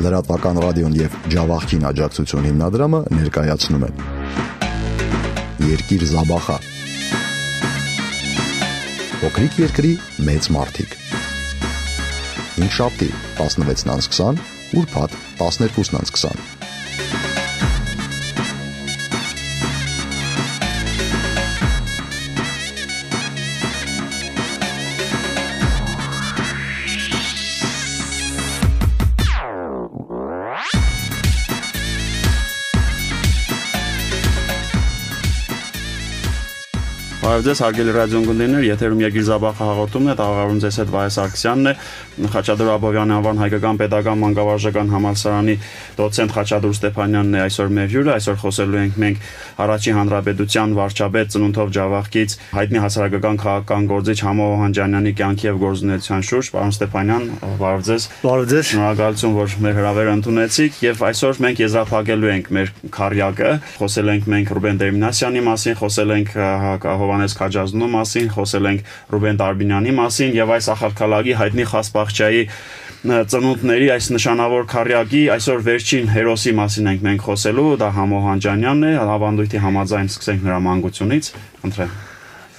Լրատվական ռադիոն եւ Ջավախքին աջակցություն հիմնադրամը ներկայացնում են Երկիր Զաբախա Փոքրիկ երկրի մեծ մարդիկ Հինգշաբթի 16:20 ուրբաթ 12:20 Ձեզ հարգելի ռադիոընկերներ, եթերում Երկիր Զաբախը հաղորդումն է, տաղավարում ձեզ հետ Վահե Սարգսյանն է, Խաչատուր Աբովյանի անվան հայկական պետական մանկավարժական համալսարանի դոցենտ Խաչատուր Ստեփանյանն է այսօր մեր հյուրը, այսօր խոսելու ենք մենք Առաջին հանրապետության վարչապետ ծնունդով Ջավախքից հայտնի հասարակական քաղաքական գործիչ Համո Օհանջանյանի կյանքի եւ գործունեության շուրջ, պարոն Ստեփանյան, բարև ձեզ։ Բարև ձեզ։ Շնորհակալություն, որ մեր հրավերը ընդունեցիք եւ այսօր մենք եզրափակելու ենք մեր քարյակը, խոսել ենք մենք Ռուբեն Դերմինասյանի մասին, խոսել ենք Հովհաննես Քաջազնու մասին, խոսել ենք Ռուբեն Տարբինյանի մասին եւ այս ախալքալագի հայտնի Խասպախչյայի ծնունդների այս նշանավոր քարյակի այսօր վերջին հերոսի մասին ենք մենք խոսելու, դա Համո Օհանջանյանն է, ավանդույթի համաձայն սկսենք նրա մանկությունից, խնդրեմ։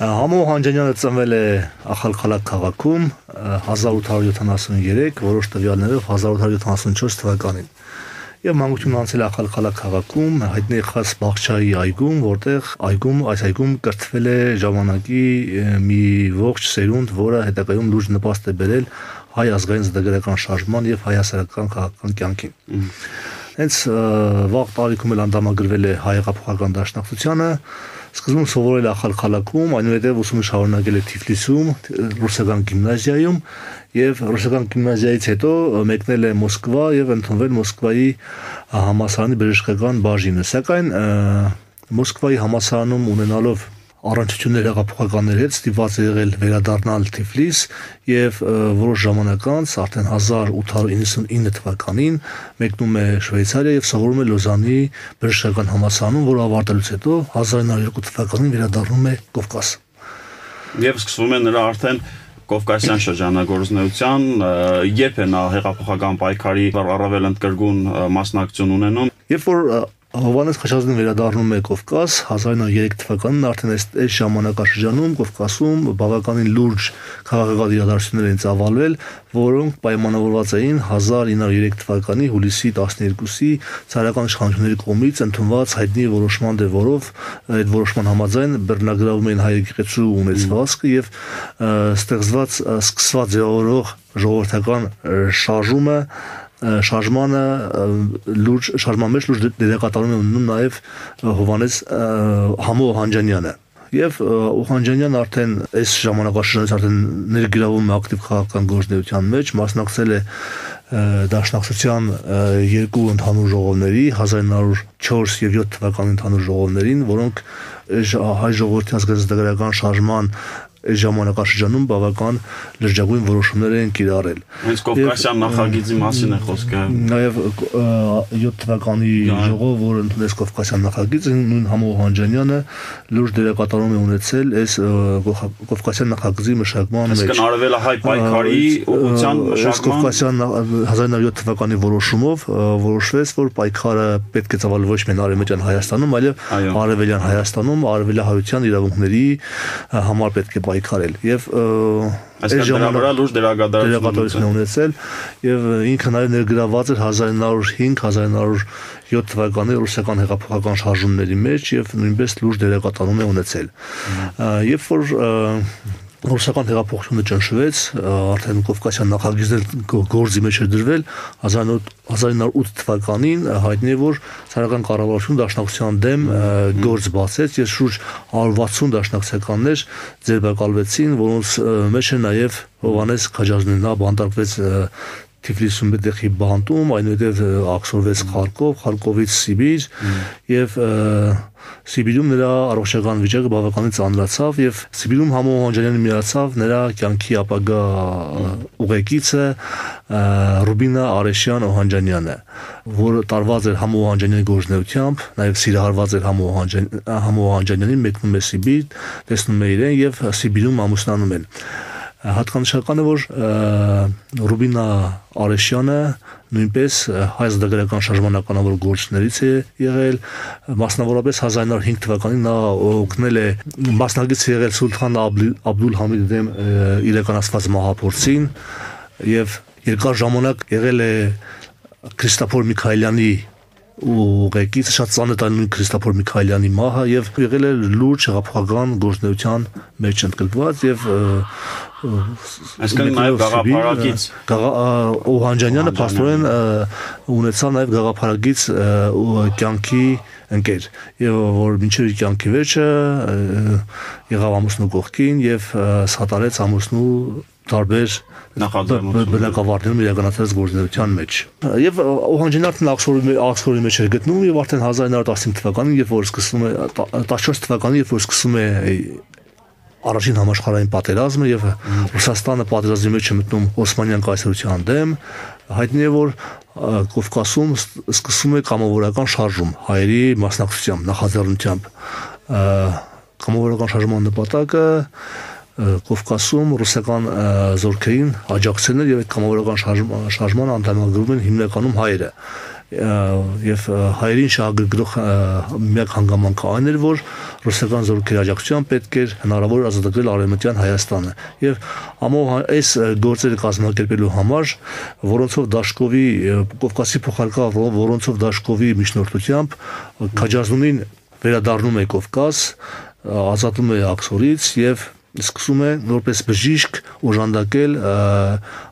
Համո Օհանջանյանը ծնվել է Ախալքալակ քաղաքում 1873, որոշ տվյալներով 1874 թվականին։ Եվ մանկությունն անցել Ախալքալակ քաղաքում, հայտնի Խասպախչյայի այգում, որտեղ այս այգում կրթվել է ժամանակի մի ողջ սերունդ, որը հետագայում լուրջ նպաստ է բերել հայ ազգային զդեգրական շարժման եւ հայ հասարակական քաղաքական կյանքին։ Հենց վաղ տարիքում էլ անդամագրվել է հայ հեղափոխական դաշնակցությանը, սկզբում սովորել է Ախալքալաքում, այնուհետև ուսումը շարունակել է Թիֆլիսում, ռուսական գիմնազիայում եւ ռուսական գիմնազիայից հետո մեկնել է Մոսկվա եւ ընդունվել Մոսկվայի համալսարանի բժշկական բաժինը, սակայն Մոսկվայի համալսարանում ունենալով առնչություններ հեղափոխականների հետ ստիպված է եղել վերադառնալ Թիֆլիս եւ որոշ ժամանակ անց արդեն 1899 թվականին մեկնում է Շվեյցարիա եւ սովորում է Լոզանի բժշկական համալսարանում, որը ավարտելուց հետո 1902 թվականին վերադառնում է Կովկաս։ Եվ սկսվում է նրա արդեն Կովկասյան շրջանագործունեության, երբ է նա հեղափոխական պայքարի առավել ընդգրկուն մասնակցություն ունենում։ Երբ որ Հովհաննես Քաջազնին վերադառնում է Կովկաս 1903 թվականին, արդեն այս ժամանակաշրջանում Կովկասում բավականին լուրջ քաղաքական իրադարձություններ են ծավալվել, որոնք պայմանավորված էին 1903 թվականի հուլիսի 12-ի ցարական իշխանությունների կողմից ընդունված հայտնի որոշման դեր, որով այդ որոշման համաձայն բռնագրավում էին հայ եկեղեցու ունեցվածքը եւ սկսված ձևավորող ժողովրդական շարժման մեջ լուրջ դերակատարում է ունենում նաև Հովհաննես Համո Օհանջանյանը։ Եվ Օհանջանյանը արդեն այս ժամանակաշրջանից արդեն ներգրավում է ակտիվ քաղաքական գործունեության մեջ, մասնակցել է Դաշնակցության երկու ընդհանուր ժողովների 1904 եւ 7 թվականի ընդհանուր ժողովներին, որոնք հայ ժողովրդի ազգազգական շարժման այս ժամանակաշրջանում բավական լրջագույն որոշումներ են կիրառել։ Հենց Կովկասյան նախագիծի մասին է խոսքը։ Նաև 7 թվականի ժողով, որը ընդունեց Կովկասյան նախագիծը, նույն Համո Օհանջանյանը լուրջ դերակատարում է ունեցել այս Կովկասյան նախագծի մշակման մեջ։ Այսինքն արվել է հայ պայքարի ուղղության մշակման։ Կովկասյան 1907 թվականի որոշումով որոշվեց, որ պայքարը պետք է ծավալվի ոչ միայն Արևմտյան Հայաստանում, այլև Արևելյան Հայաստանում, արևելահայության իրավունքների համար պետք է պայքարել եւ այս ժամանակ լուրջ դերակատարություն ունեցել եւ ինքը նաեւ ներգրաված էր 1905-1907 թվականի ռուսական հեղափոխական շարժումների մեջ եւ նույնպես լուրջ դերակատարում է ունեցել։ Երբ որ ռուսական հեղափոխությունը ճնշվեց, արդեն Կովկասյան նախագիծն գործի մեջ էր դրվել 1908 թվականին, հայտնի է, որ ցարական կառավարությունը դաշնակցության դեմ գործ բացեց եւ շուրջ 160 դաշնակցականներ ձերբակալվեցին, որոնց մեջ է նաեւ Հովհաննես Քաջազնին, նա բանտարկվեց Թիֆլիսում Բետեխի բանտում, այնուհետև աքսորվեց Խարկովից Սիբիր եւ Սիբիրում նրա առողջական վիճակը բավականին ծանրացավ եւ Սիբիրում Համո Օհանջանյանը միացավ նրա կյանքի ապագա ուղեկիցը Ռուբինա Արեշյան Օհանջանյանը, որը տարված էր Համո Օհանջանյանի գործունեությամբ, նաեւ սիրահարված էր Համո Օհանջանյանին, մեկնում է Սիբիր, տեսնում է իրեն եւ Սիբիրում ամուսնանում են։ Հատկանշական է, որ Ռուբինա Արեշյանը նույնպես հայ ազատագրական շարժմանականավոր գործիչներից է եղել, մասնավորապես 1905 թվականին նա օգնել է մասնակից եղել Սուլթան Աբդուլ Համիդի դեմ իրականացված մահափորձին եւ երկար ժամանակ եղել է Քրիստոֆոր Միքայելյանի ուղեկից, շատ ծանոթ է նույն Քրիստոֆոր Միքայելյանի մահը եւ եղել է լուրջ հեղափոխական գործունեության մեջ ընդգրկված եւ այսինքն նաեւ գաղափարակից Օհանջանյանը փաստորեն ունեցավ նաեւ գաղափարակից կյանքի ընկեր եւ որ մինչեւ կյանքի վերջը եղավ ամուսնու կողքին եւ սատարեց ամուսնու տարբեր բնակավարներում իրականացած գործունեության մեջ եւ Օհանջանյանը Աքսֆորդի մեջ էր գտնվում եւ արդեն 1915 թվականին երբ որ սկսվում է 14 թվականին երբ որ սկսվում է առաջին համաշխարհային պատերազմը եւ Ռուսաստանը պատերազմի մեջ է մտնում Օսմանյան կայսրության դեմ հայտնի է որ Կովկասում սկսվում է կամավորական շարժում հայերի մասնակցությամբ նախաձեռնությամբ կամավորական շարժման նպատակը Կովկասում ռուսական զորքերին աջակցելն եւ այդ կամավորական շարժման անդամագրում են հիմնականում հայերը եւ հայերին շահագրգռող միակ հանգամանքը այն էր որ ռուսական զորքերի աջակցությամբ պետք էր հնարավոր ազատագրել արևմտյան Հայաստանը եւ ամոհ այս գործերը կազմակերպելու համար որոնցով Դաշկովի Կովկասի փոխարկավ որոնցով Դաշկովի միջնորդությամբ Քաջազնունին վերադառնում է Կովկաս ազատում է Աքսորից եւ սկսում է որպես բժիշկ օժանդակել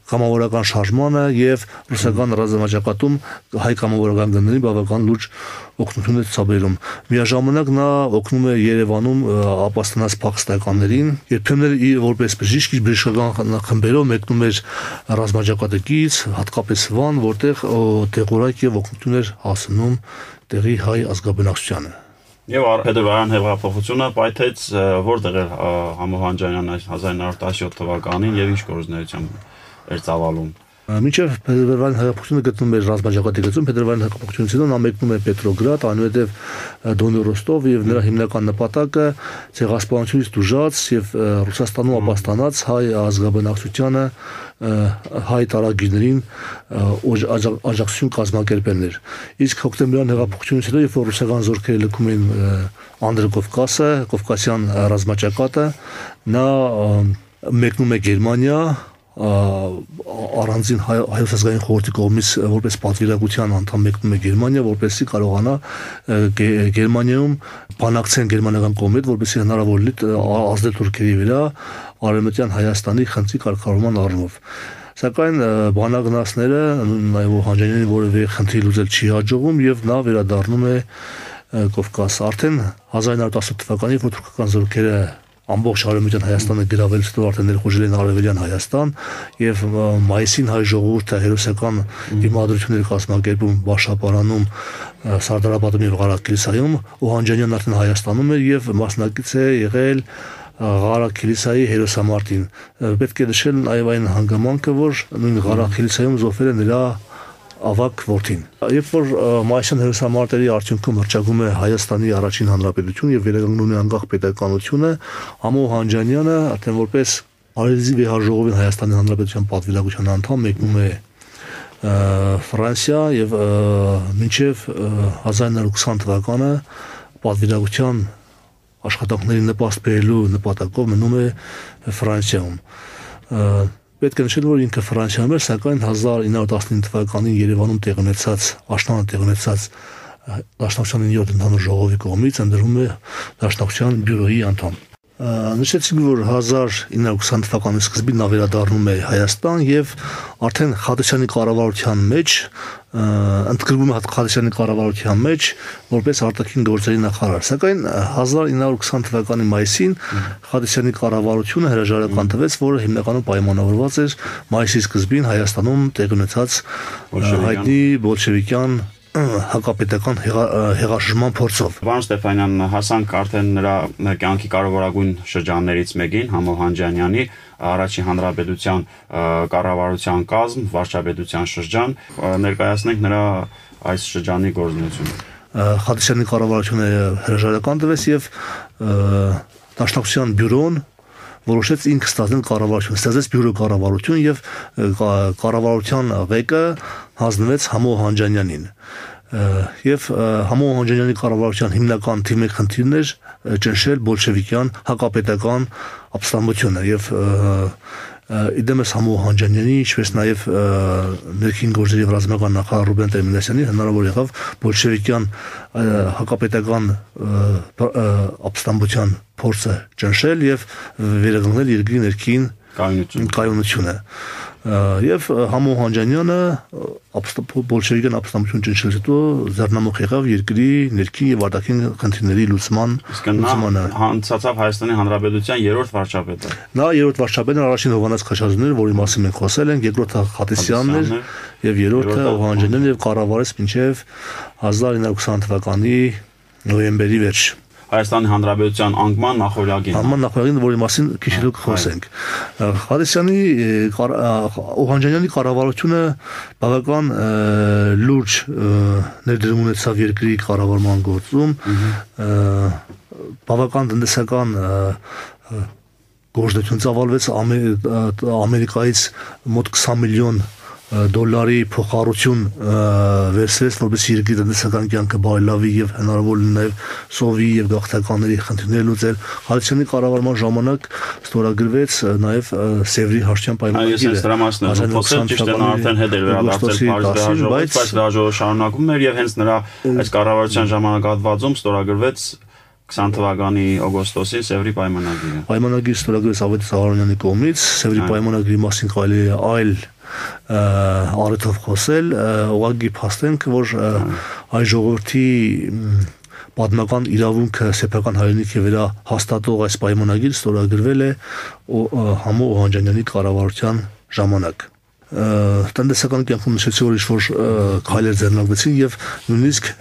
կամավորական շարժմանը եւ ռուսական ռազմաճակատում հայ կամավորական գնդերին բավական լուրջ օգնություն է ցուցաբերում։ Միաժամանակ նա օգնում է Երևանում ապաստանած փախստականներին, երբեմն որպես բժիշկ իր բժշկական խմբերով մեկնում էր ռազմաճակատից, հատկապես Վան, որտեղ տեղորակ եւ օգնություն էր հասնում տեղի հայ ազգաբնակչությանը։ Եվ Փետրվարյան հեղափոխությունը պայթեց որտեղ էր Համոհանջանյանը 1917 թվականին եւ ինչ գործունեությամբ էր ծավալում։ Մինչև Փետրվարյան հեղափոխությունը գտնվում էր ռազմաճակատի գծում, Փետրվարյան հեղափոխությունից հետո նա մեկնում է Պետրոգրադ, այնուհետև Դոնի Ռոստով եւ նրա հիմնական նպատակը ցեղասպանությունից դժուժած եւ Ռուսաստանում ապաստանած հայ ազգաբնակչությանը հայ տարագիրներին աջակցություն կազմակերպելն էր։ Իսկ հոկտեմբերյան հեղափոխությունից հետո երբ որ ռուսական զորքերը լքում են Անդրկովկասը, Կովկասյան ռազմաճակատը, նա մեկնում է Գերմանիա առանձին հայոց ազգային խորհրդի կողմից որպես պատվիրակության անդամ մեկնում է Գերմանիա, որպեսզի կարողանա Գերմանիայում բանակցեն գերմանական կողմի հետ, որպեսզի հնարավոր լինի ազդել թուրքերի վրա արևմտյան Հայաստանի խնդրի կարգավորման առումով։ Սակայն բանակնացները նաև Օհանջանյանի որևէ խնդրի լուծել չի հաջողում եւ նա վերադառնում է Կովկաս։ Արդեն 1918 թվականին որ թուրքական զորքերը ամբողջ արևմտյան Հայաստանը գրավելուց հետո արդեն ներխուժել են արևելյան Հայաստան եւ մայիսին հայ ժողովուրդը հերոսական դիմադրություններ կազմակերպում Բաշապարանում, Սարդարապատում եւ Ղարաքիլիսայում, Օհանջանյանն արդեն Հայաստանում էր եւ մասնակից է եղել Ղարաքիլիսայի հերոսամարտին։ Պետք է նշել նաեւ այն հանգամանքը, որ նույն Ղարաքիլիսայում զոհվել է նրա ավակ որդին։ Երբ որ մայիսյան հերոսամարտերի արդյունքում հռչակում է Հայաստանի առաջին հանրապետություն եւ վերականգնում է անկախ պետականությունը, Համոհանջանյանը արդեն որպես Արեզի վեհաժողովին Հայաստանի հանրապետության պատվիրակության անդամ մեկնում է Ֆրանսիա եւ մինչեւ 1920 թվականը պատվիրակության աշխատանքների նպաստ բերելու նպատակով մնում է Ֆրանսիայում։ Պետք է նշել, որ ինքը Ֆրանսիայում էր, սակայն 1919 թվականին Երևանում տեղ ունեցած Դաշնակցության 9-րդ ընդհանուր ժողովի կողմից ընտրվում է Դաշնակցության բյուրոյի անդամ։ Նշեցինք, որ 1920 թվականի սկզբին նա վերադառնում է Հայաստան եւ արդեն Խադիչյանի կառավարության մեջ ընդգրկվում է Խադիչյանի կառավարության մեջ որպես արտաքին գործերի նախարար։ Սակայն 1920 թվականի մայիսին Խադիչյանի կառավարությունը հրաժարական տվեց, որը հիմնականում պայմանավորված էր մայիսի սկզբին Հայաստանում տեղ ունեցած հայտնի բոլշևիկյան հակապետական հեղաշրջման փորձով։ Պարոն Ստեփանյան, հասանք արդեն նրա կյանքի կարևորագույն շրջաններից մեկին, Համոհանջանյանի առաջին հանրապետության կառավարության կազմ, վարչապետության շրջան, ներկայացնենք նրա այս շրջանի գործունեությունը։ Խադիչյանի կառավարությունը հրաժարական տվեց եւ Դաշնակցության բյուրոն, որոշեց ինքը ստեղծել կառավարություն, ստեղծեց բյուրո կառավարություն եւ կառավարության ղեկը հանձնվեց Համո Օհանջանյանին։ Եվ Համո Օհանջանյանի կառավարության հիմնական թիմի խնդիրն էր ճնշել բոլշևիկյան հակապետական ապստամբությունը եւ իդեմս Համո Օհանջանյանի, ինչպես նաեւ ներքին գործերի եւ ռազմական նախարար Ռուբեն Տեր-Մինասյանի հնարավոր եղավ բոլշևիկյան հակապետական ապստամբության փորձը ճնշել եւ վերականգնել երկրի ներքին կայունությունը։ Եվ Համո Օհանջանյանը բոլշևիկյան ապստամբություն ճնշելուց հետո ձեռնամուխ եղավ երկրի ներքին եւ արտաքին խնդիրների լուծմանը։ Հանցացավ Հայաստանի Հանրապետության երրորդ վարչապետը։ Նա երրորդ վարչապետն առաջին Հովհաննես Քաշազյանն էր, որի մասին մենք խոսել ենք, երկրորդը Խատիսյանն էր եւ երրորդը Օհանջանյանն եւ կառավարեց մինչեւ 1920 թվականի նոյեմբերի վերջ։ Հայաստանի Հանրապետության անկման նախօրյակին։ Անկման նախօրյակին, որի մասին քիչ հետո կխոսենք։ Խատիսյանի Օհանջանյանի կառավարությունը բավական լուրջ ներդրում ունեցավ երկրի կառավարման գործում, բավական տնտեսական գործունեություն ծավալվեց Ամերիկայից մոտ 20 միլիոն դոլարի փոխառություն վերցրեց, որպեսզի երկրի տնտեսական կյանքը բարելավի եւ հնարավոր լինի նաեւ սովի եւ գաղթականների խնդիրները լուծել։ Խատիսյանի կառավարման ժամանակ ստորագրվեց նաեւ Սևրի հաշտյան պայմանագիրը։ Այս դրա մասն է խոսել, ճիշտ է, նա արդեն հետ էր վերադարձել Փարիզ, բայց վեհաժողովը շարունակում էր եւ հենց նրա այս կառավարության ժամանակահատվածում ստորագրվեց 20 թվականի օգոստոսին Սևրի պայմանագիրը։ Պայմանագիրը ստորագրվեց Ավետիս Զահարյանյանի կողմից, Սևրի պայմանագրի մասին կարելի է այլ առիթով խոսել, ուղղակի փաստենք, որ այ ժողովրդի պատմական իրավունքը սեփական հայրենիքի վրա հաստատող այս պայմանագիրը ստորագրվել է Համո Օհանջանյանի կառավարության ժամանակ։ Տնտեսական կյանքում նշեցի, որ ինչ-որ քայլեր ձեռնարկվեցին եւ նույնիսկ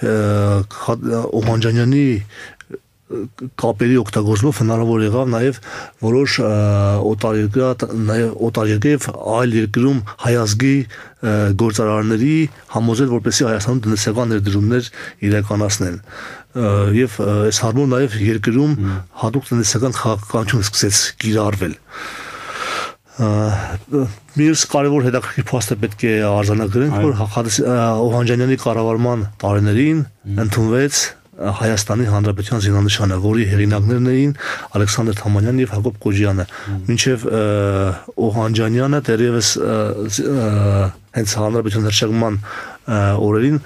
Օհանջանյանի կապերի օգտագործումով հնարավոր եղավ նաև որոշ օտարերկրյա եւ այլ երկրում հայազգի գործարարների համոզել, որպեսզի Հայաստանում տնտեսական ներդրումներ իրականացնեն։ Եվ այս հարցում նաև երկրում հատուկ տնտեսական քաղաքականություն սկսեց կիրառվել։ Մյուս կարևոր հետաքրքիր փաստը պետք է արձանագրենք, որ Օհանջանյանի կառավարման տարիներին ընդունվեց Հայաստանի Հանրապետության զինանշանը, որի հեղինակներն էին Ալեքսանդր Թամանյանն եւ Հակոբ Կոջյանը։ Մինչեւ Օհանջանյանը դեռևս հենց Հանրապետության հռչակման օրերին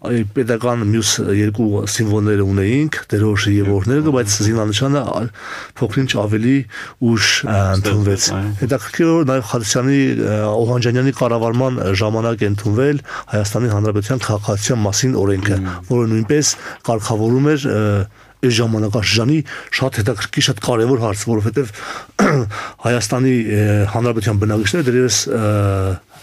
պետական մյուս երկու սիմվոլները ունեինք, դերոշը եւ օրհներգը, բայց զինանշանը փոքրինչ ավելի ուշ ընդունվեց։ Հետաքրքիր է նաեւ Խատիսյանի Օհանջանյանի կառավարման ժամանակ ընդունվել Հայաստանի Հանրապետության քաղաքացիության մասին օրենքը, որը նույնպես կարգավորում էր այս ժամանակաշրջանի շատ հետաքրքիր, շատ կարևոր հարց, որովհետեւ Հայաստանի Հանրապետության բնակիչները դեռևս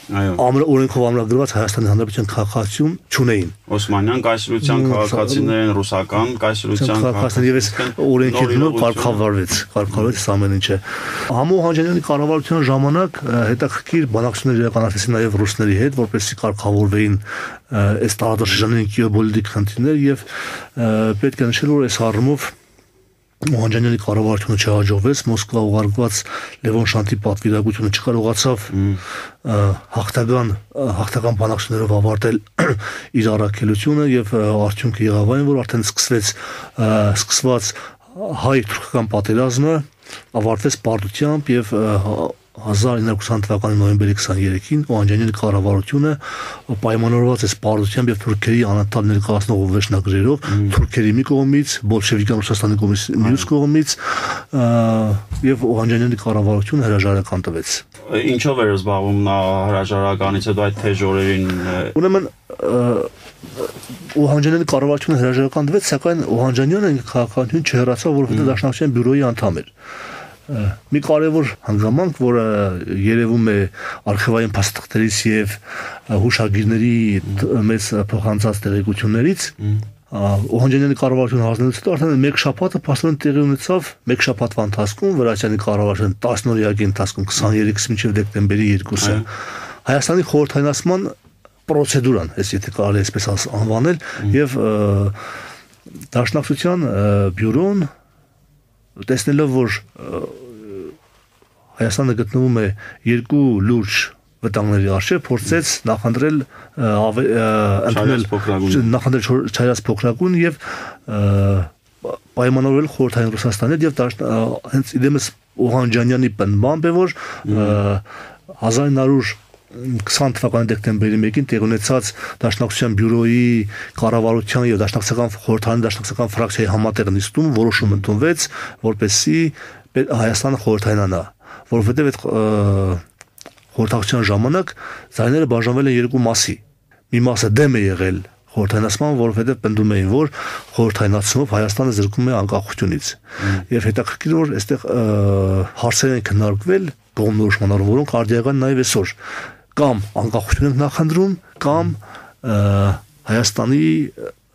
օրենքով ամրագրված Հայաստանի Հանրապետության քաղաքացիություն չունեին։ Օսմանյան կայսրության քաղաքացիներին, ռուսական կայսրության քաղաքացիներ եւ այս օրենքի դիմով կարգավորվեց ամեն ինչը։ Համո Օհանջանյանի կառավարության ժամանակ հետաքրքիր բանակցություններ իրականացվեցին նաեւ ռուսների հետ, որպեսզի կարգավորվեին այս տարածաշրջանային գեոպոլիտիկ խնդիրներ եւ պետք է նշել, որ այս առումով Օհանջանյանի կառավարությունը չհաջողվեց, Մոսկվա ուղարկված Լևոն Շանթի պատվիրակությունը չկարողացավ հաղթական բանակցություններով ավարտել իր առաքելությունը եւ արդյունքը եղավ այն, որ արդեն սկսված հայ-թուրքական պատերազմը ավարտվեց պարտությամբ եւ 1920 թվականի նոյեմբերի 23-ին Օհանջանյանի կառավարությունը պայմանավորված է պարտությամբ եւ թուրքերի անընդհատ ներկայացնող վերջնագրերով թուրքերի մի կողմից, բոլշևիկյան Ռուսաստանի կողմից մյուս կողմից եւ Օհանջանյանի կառավարությունը հրաժարական տվեց։ Ինչով էր զբաղվում նա հրաժարականից հետո այդ թեժ օրերին։ Ուրեմն Օհանջանյանի կառավարությունը հրաժարական տվեց, սակայն Օհանջանյանը քաղաքականություն չհեռացավ, որովհետեւ Դաշնակցության բյուրոյի անդամ էր։ Մի կարևոր հանգամանք, որը երևում է արխիվային փաստաթղթերից եւ հուշագիրների մեծ փոխանցած տեղեկություններից, Օհանջանյանի կառավարությունը հանձնելուց հետո արդեն մեկ շաբաթը փաստորեն տեղի ունեցավ, մեկ շաբաթվա ընթացքում Վրաչյանի կառավարության 10-օրյակի ընթացքում 23-ից մինչև դեկտեմբերի 2-ը Հայաստանի խորհրդայնացման պրոցեդուրան, եթե կարելի այսպես անվանել, եւ Դաշնակցության բյուրոն տեսնելով, որ Հայաստանը գտնվում է երկու լուրջ վտանգների առջև, փորձեց նախընտրել չայրած փոքրագույն եւ պայմանավորել խորհրդային Ռուսաստանի եւ հենց իդեմս Օհանջանյանի պնդմամբ է, որ 1920 թվականի դեկտեմբերի 1-ին տեղի ունեցած Դաշնակցության բյուրոյի կառավարության եւ խորհրդային դաշնակցական ֆրակցիայի համատեղ նիստում որոշում ընդունվեց, որպեսզի Հայաստանը խորհրդայնանա, որովհետեւ այդ խորհրդակցության ժամանակ ձայները բաժանվել են երկու մասի։ Մի մասը դեմ է եղել խորհրդայնացման, որովհետև պնդում էին, որ խորհրդայնացումով Հայաստանը զրկվում է անկախությունից։ Եվ հետաքրքիր որ այստեղ հարցեր են քննարկվել կողմնորոշման առումով, որոնք արդիական նաև այսօր կամ անկախություն են նախընտրում, կամ Հայաստանի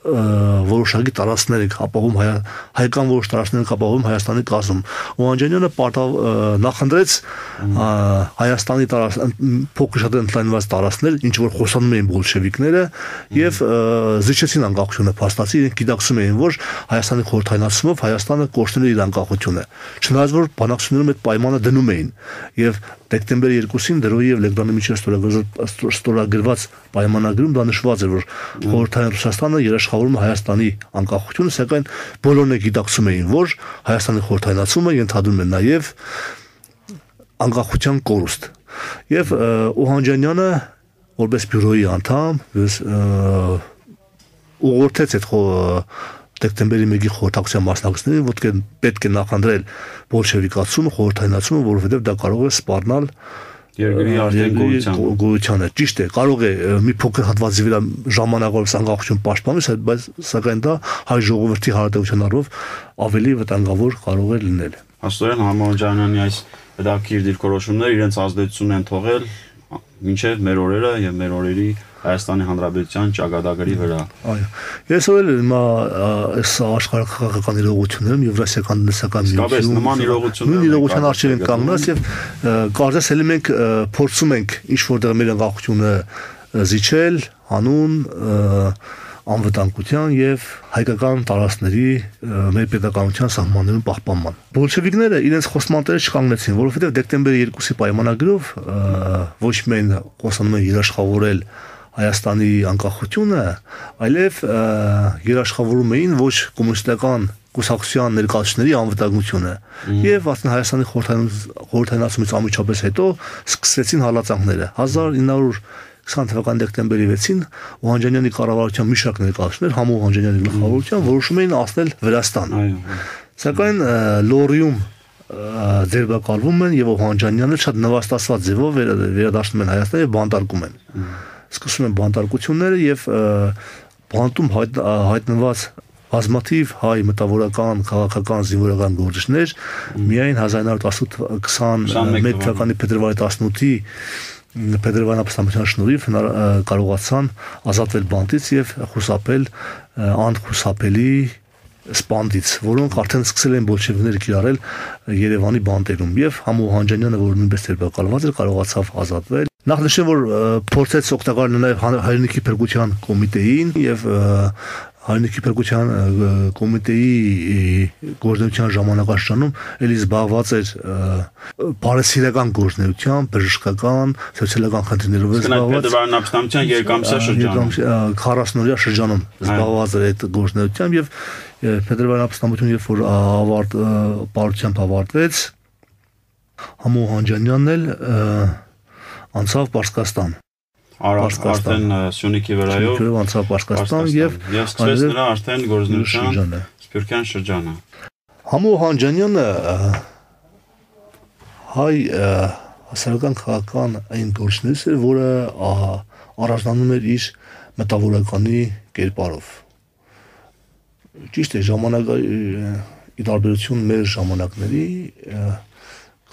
որոշակի տարածքներ են ապահովում հայկական որոշ տարածքներ են ապահովում Հայաստանի կազմում։ Օհանջանյանը նախընտրեց Հայաստանի փոքր շատ ընդլայնված տարածքներ, ինչ որ խոսանում էին բոլշևիկները, եւ զիջեցին անկախությունը փաստացի, իրենք գիտակցում էին, որ Հայաստանի խորհրդայնացումով Հայաստանը կորցնել է իր անկախությունը։ Չնայած որ բանակցություններում այդ պայմանը դնում էին եւ դեկտեմբերի 2-ին դրոյի եւ Լեգդանի միջև ստորագրված պայմանագրում դա նշված էր, որ խորհրդային Ռուսաստանը երաշխավորում է Հայաստանի անկախությունը, սակայն բոլորն գիտակցում էին, որ Հայաստանի խորհրդայնացումը ենթադրում է նաեւ անկախության կորուստ։ Եվ Օհանջանյանը որպես բյուրոյի անդամ ուղղորդեց այդ դեկտեմբերի 1-ի խորհրդակցության մասնակիցներին, որ պետք է նախընտրել բոլշևիկացումը, խորհրդայնացումը, որովհետև դա կարող է սպառնալ երկրի արդեն գոյությանը։ Ճիշտ է, կարող է մի փոքր հատվածի վրա ժամանակավոր անկախություն պաշտպանել, բայց սակայն դա հայ ժողովրդի հարաբերության առումով ավելի վտանգավոր կարող է լինել։ Աստորեն Օհանջանյանի այս հետաքրքիր դիրքորոշումները իրենց ազդեցություն են թողել մինչև մեր օրերը եւ մեր օրերի Հայաստանի Հանրապետության ճակատագրի վրա։ Այո։ Ես ով եմ այս աշխարհական իրողություններում Եվրասիական դեսական միությունում նման իրողության արժեր են կանգնած եւ կարծես էլի մենք փորձում ենք ինչ որտեղ մեր անկախությունը զիջել հանուն անվտանգության եւ հայկական տարածքների մեր պետականության սահմաններում պահպանման։ Բոլշևիկները իրենց խոսմանները չկանգնեցին, որովհետեւ դեկտեմբերի 2-ի պայմանագրով ոչ միայն խոսանում են երաշխավորել Հայաստանի անկախությունը, այլև երաշխավորում էին ոչ կոմունիստական կուսակցության ներկայացուցիչների անվտանգությունը։ Եվ ասեն Հայաստանի խորհրդայնացումից անմիջապես հետո սկսվեցին հալածանքները։ 1920 թվականի դեկտեմբերի 6-ին Օհանջանյանի կառավարության մի շարք ներկայացուցիչներ համու Օհանջանյանի գլխավորությամբ որոշում էին ասնել Վրաստան։ Սակայն Լորիում ձերբակալվում են եւ Օհանջանյանը շատ նվաստացված ձևով վերադառնում են Հայաստան եւ բանտարկում են։ Սկսում են բանտարկությունները եւ բանտում հայտնված բազմաթիվ հայ մտավորական, քաղաքական, զինվորական գործիչներ միայն 1921 թվականի փետրվարի 18-ի Փետրվարյան ապստամբության շնորհիվ կարողացան ազատվել բանտից եւ խուսափել անխուսափելի սպանդից, որոնք արդեն սկսել են բոլշևիկները կիրառել Երևանի բանտերում եւ Համո Օհանջանյանը, որ նույնպես ձերբակալված էր, կարողացավ ազատվել։ Նախ նշեմ, որ փորձեց օգտակար լինել հայրենիքի փրկության կոմիտեին եւ հայրենիքի փրկության կոմիտեի գործունեության ժամանակաշրջանում էլի զբաղված էր բարեսիրական գործունեությամբ, բժշկական, սոցիալական խնդիրներով զբաղված։ Փետրվարյան ապստամբության երկամսյա շրջանում 40-օրյա շրջանում զբաղված էր այդ գործունեությամբ եւ Փետրվարյան ապստամբությունը երբ որ պարությամբ ավարտվեց, Համո Օհանջանյանն էլ անցավ Պարսկաստան։ Արդեն Սյունիքի վրայով անցավ Պարսկաստան եւ սկսեց նրա արդեն գործունեության Սփյուռքյան շրջանը։ Համո Օհանջանյանը հայ հասարակական քաղաքական այն գործիչներից էր, որը առաջնանում էր իր մտավորականի կերպարով։ Ճիշտ է, ի տարբերություն մեր ժամանակների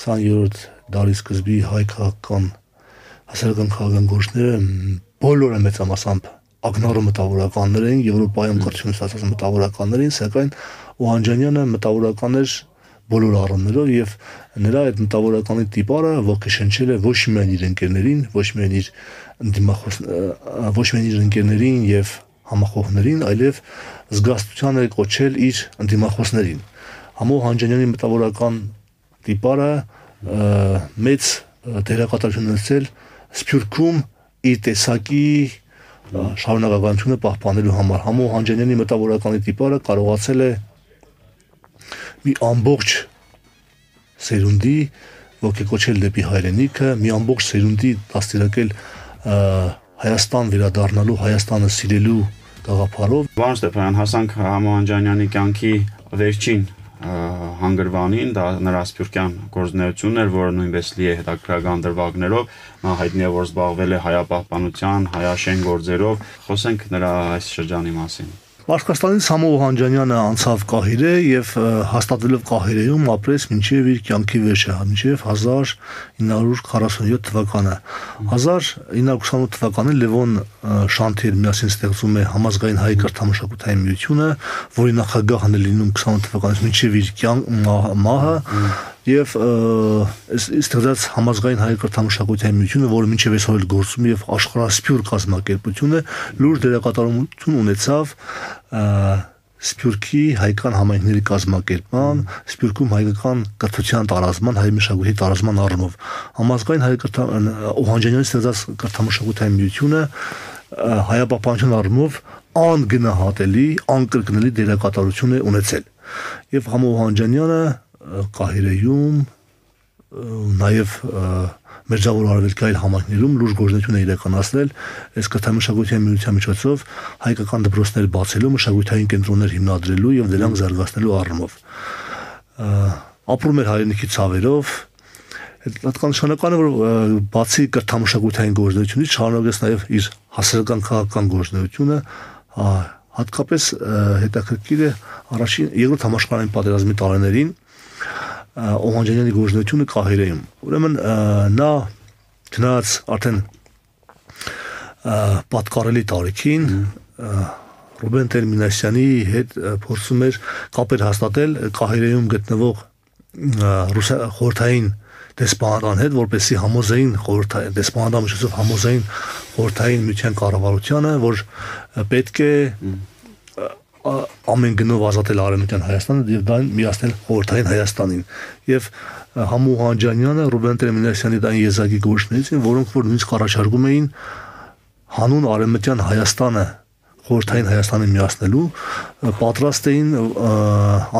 20-րդ դարի սկզբի հայ քաղաքական հասարակական քաղաքական գործիչները բոլորը մեծամասամբ ակնառու մտավորականներ էին, Եվրոպայում կրթություն ստացած մտավորականներ էին, սակայն Օհանջանյանը մտավորական էր բոլոր առումներով եւ նրա այդ մտավորականի տիպարը ոգեշնչել է ոչ միայն իր ընկերներին, ոչ միայն իր ընկերներին եւ համախոհներին, այլև զգաստության է կոչել իր ընդդիմախոսներին։ Համո Օհանջանյանի մտավորական տիպարը մեծ դերակատարություն ունեցել Սփյուռքում իր տեսակի շարունակականությունը պահպանելու համար։ Համո Հանջանյանի մտավորականի տիպարը կարողացել է մի ամբողջ սերունդի ոգեկոչել դեպի հայրենիքը, մի ամբողջ սերունդի դաստիարակել Հայաստան վերադառնալու, Հայաստանը սիրելու գաղափարով։ Պարոն Ստեփանյան, հասանք Համո Հանջանյանի կյանքի վերջին հանգրվանին, դա նրա սփյուռքյան գործունեությունն էր, որը նույնպես լի է հետաքրքրական դրվագներով, նա հայտնի է, որ զբաղվել է հայապահպանության, հայաշեն գործերով, խոսենք նրա այս շրջանի մասին։ Պարսկաստանից Համո Հանջանյանը անցավ Կահիրե եւ հաստատվելով Կահիրեում ապրեց մինչեւ իր կյանքի վերջը, մինչեւ 1947 թվականը։ 1928 թվականին Լևոն Շանթեր միասին ստեղծում է Համազգային հայ կրթամշակութային միությունը, որի նախագահն է լինում 28 թվականից մինչեւ իր մահը եւ ստեղծած Համազգային հայ կրթամշակութային միությունը, որը մինչեւ այսօր գործում է եւ աշխարհասփյուռ կազմակերպությունը, լուրջ դերակատարություն ունեցավ Սփյուռքի հայկական համայնքների կազմակերպման, Սփյուռքում հայկական կրթության տարածման, հայ մշակույթի տարածման առումով Համազգային հայ Օհանջանյանի ստեղծած կրթամշակութային միությունը հայապահպանության առումով անգնահատելի, անկրկնելի դերակատարություն է ունեցել։ Եվ Համո Օհանջանյանը Կահիրեում նաև Մերձավոր Արևելքային համայնքներում լուրջ գործունեություն է իրականացնել այս կրթամշակութային միության միջոցով հայկական դպրոցներ բացելու, մշակութային կենտրոններ հիմնադրելու եւ դրանք զարգացնելու առումով։ Ապրում էր հայրենիքի ցավերով, հատկանշանականը որ բացի կրթամշակութային գործունեությունից շարունակեց նաև իր հասարակական քաղաքական գործունեությունը, հատկապես հետաքրքիր է առաջին երկրորդ համաշխարհային պատերազմի տարիներին Օհանջանյանի գործունեությունը Կահիրեում։ Ուրեմն նա գնաց արդեն պատկառելի տարիքին Ռուբեն Տեր-Մինասյանի հետ փորձում էր կապեր հաստատել Կահիրեում գտնվող խորհրդային դեսպանատան հետ, որպեսզի համոզեին խորհրդային դեսպանատան միջոցով համոզեին խորհրդային միության կառավարությանը, որ պետք է ամեն գնով ազատել Արևմտյան Հայաստանը եւ դա միացնել խորհրդային Հայաստանին։ Եվ Համո Հանջանյանը Ռուբեն Տեր-Մինասյանի դան եզակի գործիչներից են, որոնք որ նույնիսկ առաջարկում էին հանուն Արևմտյան Հայաստանը խորհրդային Հայաստանը միացնելու, պատրաստ էին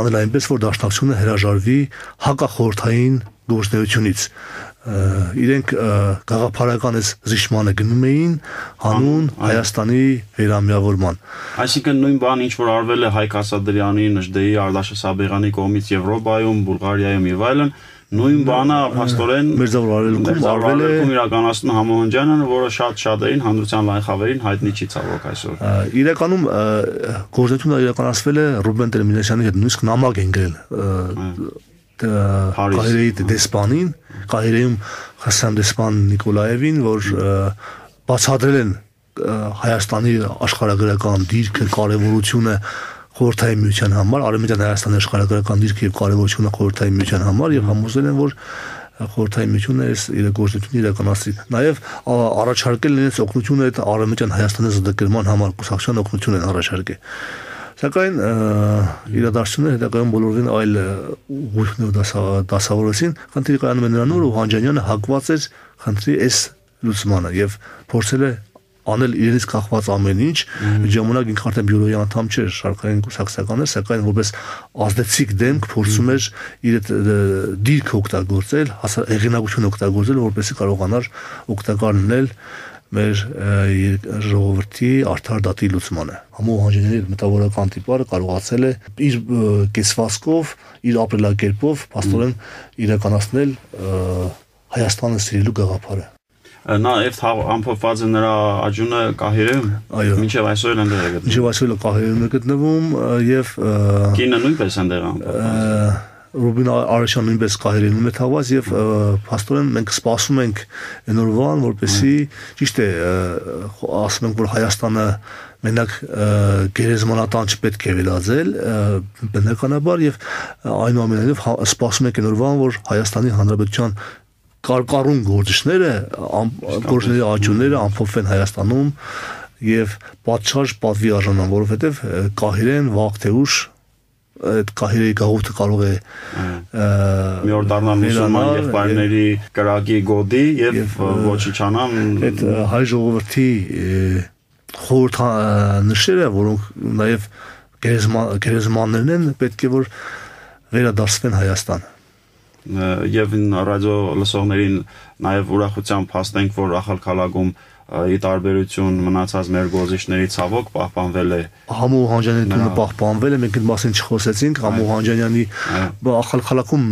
անել այնպես, որ դաշնակցությունը հրաժարվի հակախորհրդային գործունեությունից։ Իրենք գաղափարական այս զիջմանը գնում էին հանուն Հայաստանի վերամիավորման։ Այսինքն նույն բան, ինչ որ արվել է Հայկ Ասադրյանի, Նժդեի, Արտաշես Սաբեղյանի կողմից Եվրոպայում, Բուլղարիայում եւ այլն, նույն բանը փաստորեն Մերձավոր Արևելքում արվել է իրականացնում Համո Հանջանյանը, որը շատ-շատերին հանդրության լայն խավերին հայտնի չի ցավոք այսօր։ Իրականում գործունեությունը իրականացվել է Ռուբեն Տեր-Մինասյանի հետ, նույնիսկ նամակ են գրել Կահիրեի դեսպանին, Կահիրեում Խասան դեսպան Նիկոլաևին, որ բացատրել են Հայաստանի աշխարհագրական դիրքը, կարևորությունը խորհրդային միության համար, Արևմտյան Հայաստանի աշխարհագրական դիրքը եւ կարևորությունը խորհրդային միության համար եւ համոզել են, որ խորհրդային միությունը այս իր գործունեությունը իրականացրի։ Նաեւ առաջարկել են այս օգնությունը այդ Արևմտյան Հայաստանի զդկերման համար կուսակցության օգնություն են առաջարկել։ Սակայն իրադարձությունները հետագայում բոլորին այլ ուղղություններով դասավորեցին, խնդիրը կայանում է նրանում, որ Հանջանյանը հակված էր խնդրի այս լուծմանը եւ փորձել է անել իրենից կախված ամեն ինչ, ժամանակ ինքը արդեն բյուրոյի անդամ չէր, շարքային կուսակցական էր, սակայն որպես ազդեցիկ դեմք փորձում էր իր դիրքը օգտագործել, հեղինակություն օգտագործել, որպեսզի կարողանար օգտակար լինել մեր ժողովրդի արդար դատի լուծմանը։ Համո Հանջանյանի մտավորական տիպարը կարողացել է իր կեցվածքով, իր ապրելակերպով փաստորեն իրականացնել Հայաստանը սիրելու գաղափարը։ Նա եւ ամփոփված է նրա աճյունը Կահիրեում։ Այո։ Մինչեւ այսօր այնտեղ է գտնվում։ Մինչեւ այսօր Կահիրեում է գտնվում եւ կինը նույնպես այնտեղ ամփոփված։ Ռուբին Արաշյանը նույնպես Կահիրեում է թաղված եւ փաստորեն մենք սպասում ենք այն օրվան, որպեսզի ճիշտ է ասում ենք, որ Հայաստանը մենակ գերեզմանատան չպետք է վերածել բնականաբար եւ այնուամենայնիվ սպասում ենք այն օրվան, որ Հայաստանի Հանրապետության կարկառուն գործիչները գործիչների աճյունները ամփոփվեն Հայաստանում եւ պատշաճ պատվի արժանան, որովհետեւ Կահիրեն վաղ թե ուշ այդ կահիրի գաղութը կարող է մի օր դառնալ մուսուլման եղբայրների կրակի գոդի եւ ոչնչանան այդ հայ ժողովրդի խորհուրդ նշերը, որոնք նաեւ գերեզմաններն են, պետք է որ վերադարձվեն Հայաստան։ Եվ ռադիո լսողներին նաև ուրախությամբ հաստենք, որ Ախալքալագում ի տարբերություն մնացած մեր գործիչների ցավոք պահպանվել է Համու Հանջանյանի տունը պահպանվել է, մենք այդ մասին չխոսեցինք, Համու Հանջանյանի Ախալքալաքում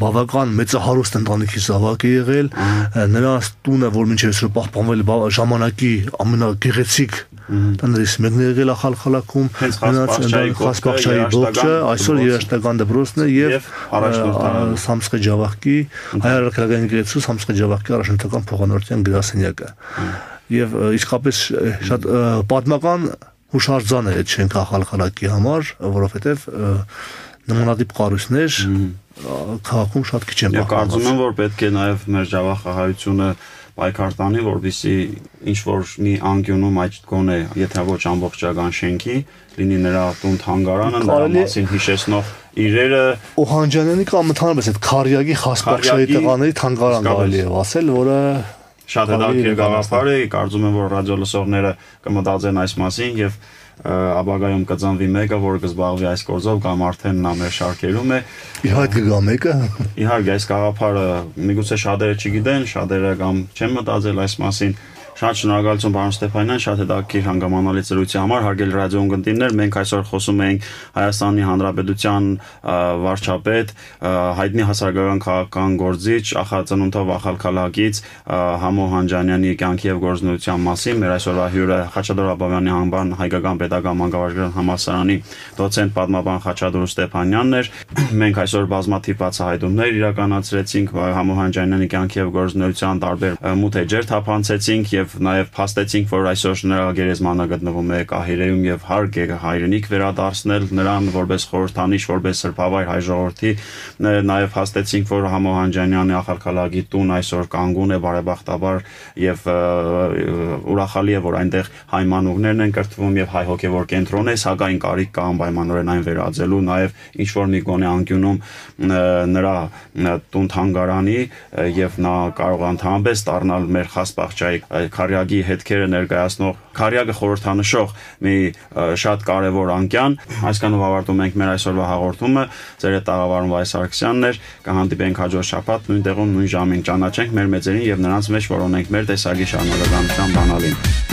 բավական մեծահարուստ ընտանիքի զավակ է եղել, նրա տունը, որ մինչև այսօր պահպանվել է ժամանակի ամենագեղեցիկ տներից մեկն է եղել Ախալքալաքում, Խասպախչայի ողջը, այսօր երաժշտական դպրոցն է եւ Սամսխե Ջավախքի հայ առաքելական եկեղեցու Սամսխե Ջավախքի առաջնորդական փոխանորթյան գրասենյակը եւ իսկապես շատ պատմական հուշարձան է այդ շենքը Ախալքալակի համար, որովհետեւ նմանատիպ կառույցներ քաղաքում շատ քիչ են պահպանված։ Կարծում եմ, որ պետք է նաեւ մեր Ջավախահայությունը պայքար տանի, որպեսզի ինչ որ մի անկյունում այդ գոնե, եթե ոչ ամբողջական շենքի, լինի նրա տուն թանգարանը, նրա մասին հիշեցնող իրերը Օհանջանյանի կամ ընդհանրապես այդ Քարյակի Խասպախչայի տղաների թանգարան կարելի է ասել, որը շատ հետաքրքիր գաղափար է, կարծում եմ, որ ռադիո լսողները կմտածեն այս մասին եւ ապագայում կծանվի մեկը, որ կզբաղվի այս գործով կամ արդեն նա մեր շարքերում է։ Իհարկե գա մեկը։ Իհարկե այս գաղափարը միգուցե շատերը չգիտեն, շատերը կամ չեն մտածել այս մասին։ Շատ շնորհակալություն պարոն Ստեփանյան, շատ հետաքրքիր հանգամանալի ծրույցի համար, հարգելի ռադիոընկերներ, մենք այսօր խոսում ենք Հայաստանի Հանրապետության վարչապետ, հայտնի հասարակական քաղաքական գործիչ, ախածնունդով Ախալքալակից Համո Հանջանյանի կյանքի եւ գործունեության մասին։ Մեր այսօրվա հյուրը Խաչատուր Աբովյանի անվան հայկական պետական մանկավարժական համալսարանի դոցենտ պատմաբան Խաչատուր Ստեփանյանն էր։ Մենք այսօր բազմաթիվ բացահայտումներ իրականացրեցինք Համո Հանջանյանի կյանքի եւ գործունեության տարբեր մութ էջեր թափանցեցինք եւ նաև փաստեցինք, որ այսօր նրա գերեզմանը գտնվում է Կահիրեում եւ հարկ է հայրենիք վերադարձնել նրան որպես խորհրդանիշ, որպես սրբավայր հայ ժողովրդի, նաև փաստեցինք, որ Համո Հանջանյանի Ախալքալակի տուն այսօր կանգուն է բարեբախտաբար եւ ուրախալի է, որ այնտեղ հայ մանուկներն են կրթվում եւ հայ հոգեվոր կենտրոն է, սակայն կարիք կա անպայմանորեն այն վերածելու, նաև ինչ որ մի գոնե անկյունում նրա տուն թանգարանի եւ նա կարող ընդհանրապես դառնալ մեր Խասպախչայի Քարյակի հետքերը ներկայացնող Քարյակը խորհրդանշող մի շատ կարևոր անկյան։ Այսքանով ավարտում ենք մեր այսօրվա հաղորդումը։ Ձեր հետ տաղավարում Վայ Սարգսյանն էր։ Կհանդիպենք հաջորդ շաբաթ նույն տեղում նույն ժամին։ Ճանաչենք մեր մեծերին եւ նրանց մեջ որոնենք մեր տեսակի շարունակականության բանալին։